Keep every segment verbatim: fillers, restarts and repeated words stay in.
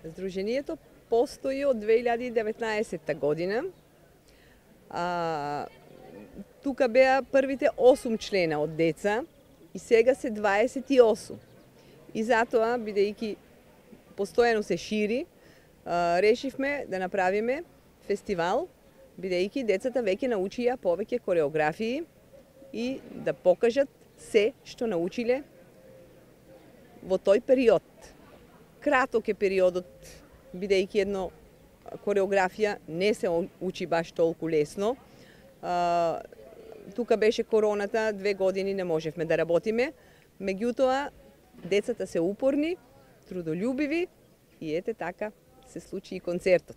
Здруженијето постои од две илјади и деветнаесетта година. А, тука беа првите осум члена од деца и сега се дваесет и осум. И затоа, бидејќи постојано се шири, а, решивме да направиме фестивал, бидејќи децата веќе научија повеќе кореографии и да покажат се што научиле во тој период. Краток е периодот, бидејќи едно кореографија не се учи баш толку лесно. А, тука беше короната, две години не можевме да работиме, меѓутоа децата се упорни, трудолюбиви и ете така се случи и концертот.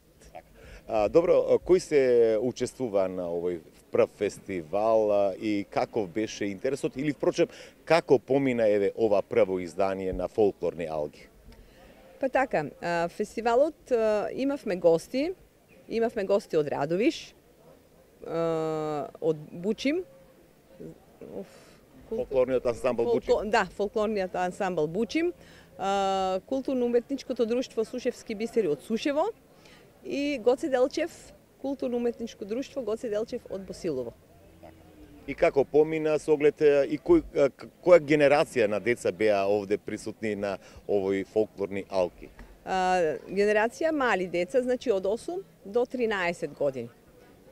А, добро, кој се учествува на овој прв фестивал а, и каков беше интересот или впрочем како помина еве ова прво издание на фолклорни алги? Па така, фестивалот имавме гости, имавме гости од Радовиш, од Бучим, фолклорниот ансамбл Бучим. Да, фолклорниот ансамбл Бучим, културно-уметничкото друштво Сушевски бисери од Сушево и Гоце Делчев, културно-уметничко друштво Гоце Делчев од Босилово. И како помина со оглед и кој, која генерација на деца беа овде присутни на овој фолклорни алки? А, генерација мали деца, значи од осум до тринаесет години.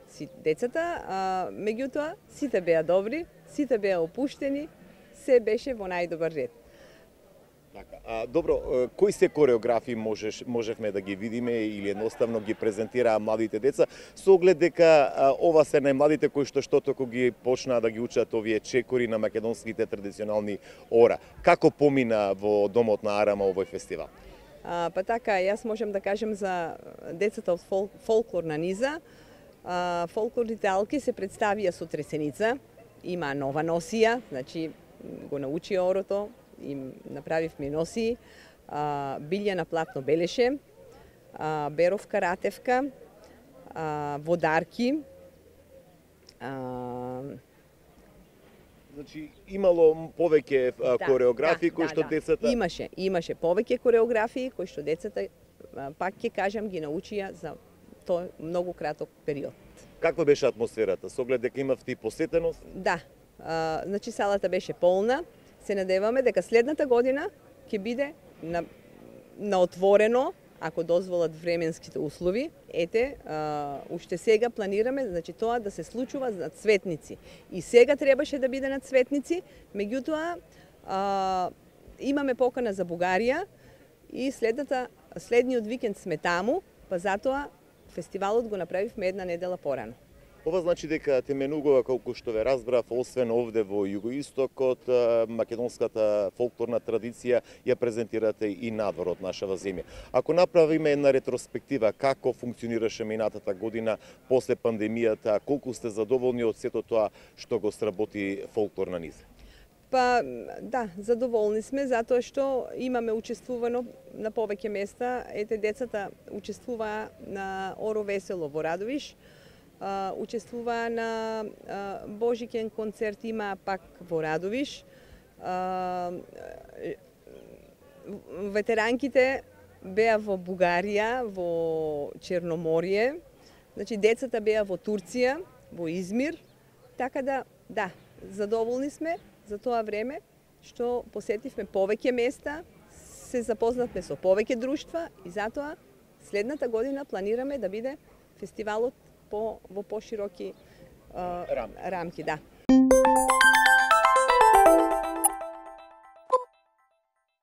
Си децата, а, меѓутоа сите беа добри, сите беа опуштени, се беше во најдобар ред. Така, а, добро, кои се кореографии можеш, можевме да ги видиме или едноставно ги презентираа младите деца, со оглед дека а, ова се најмладите кои што што току ги почнаа да ги учат овие чекори на македонските традиционални ора. Како помина во Домот на Арама овој фестивал? А, па така, јас можам да кажем за децата од фол, фолклорна низа. А, фолклорните алки се представија со тресеница, има нова носија, значи го научи орото, им направивме носии, а, билја на платно белеше, а, беровка ратевка, а, водарки. А... Значи имало повеќе да, кореографии да, кои да, што да. децата Имаше, имаше повеќе кореографии кои што децата пак ќе кажам ги научија за тој многу краток период. Каква беше атмосферата? Со оглед дека имавте и посетеност? Да, а, значи салата беше полна. Се надеваме дека следната година ќе биде на, на отворено, ако дозволат временските услови. Ете, а, уште сега планираме, значи тоа да се случува на Цветници. И сега требаше да биде на Цветници, меѓутоа а, имаме покана за Бугарија и следната следниот викенд сме таму, па затоа фестивалот го направивме една недела порано. Ова значи дека теменугува, колку што ве разбрав, освен овде во југоистокот, македонската фолклорна традиција ја презентирате и надвор од нашава земја. Ако направиме една ретроспектива како функционираше минатата година после пандемијата, колку сте задоволни од сето тоа што го сработи фолклорна низа? Па да, задоволни сме затоа што имаме учествувано на повеќе места. Ете, децата учествуваа на Оро Весело во Радовиш, Uh, учествува на uh, Божиќен концерт има пак во Радовиш. Uh, ветеранките беа во Бугарија, во Черноморие. Значи децата беа во Турција, во Измир. Така да, да, задоволни сме за тоа време што посетивме повеќе места, се запознавме со повеќе друштва и затоа следната година планираме да биде фестивалот по, во пошироки uh, рамки. рамки, да.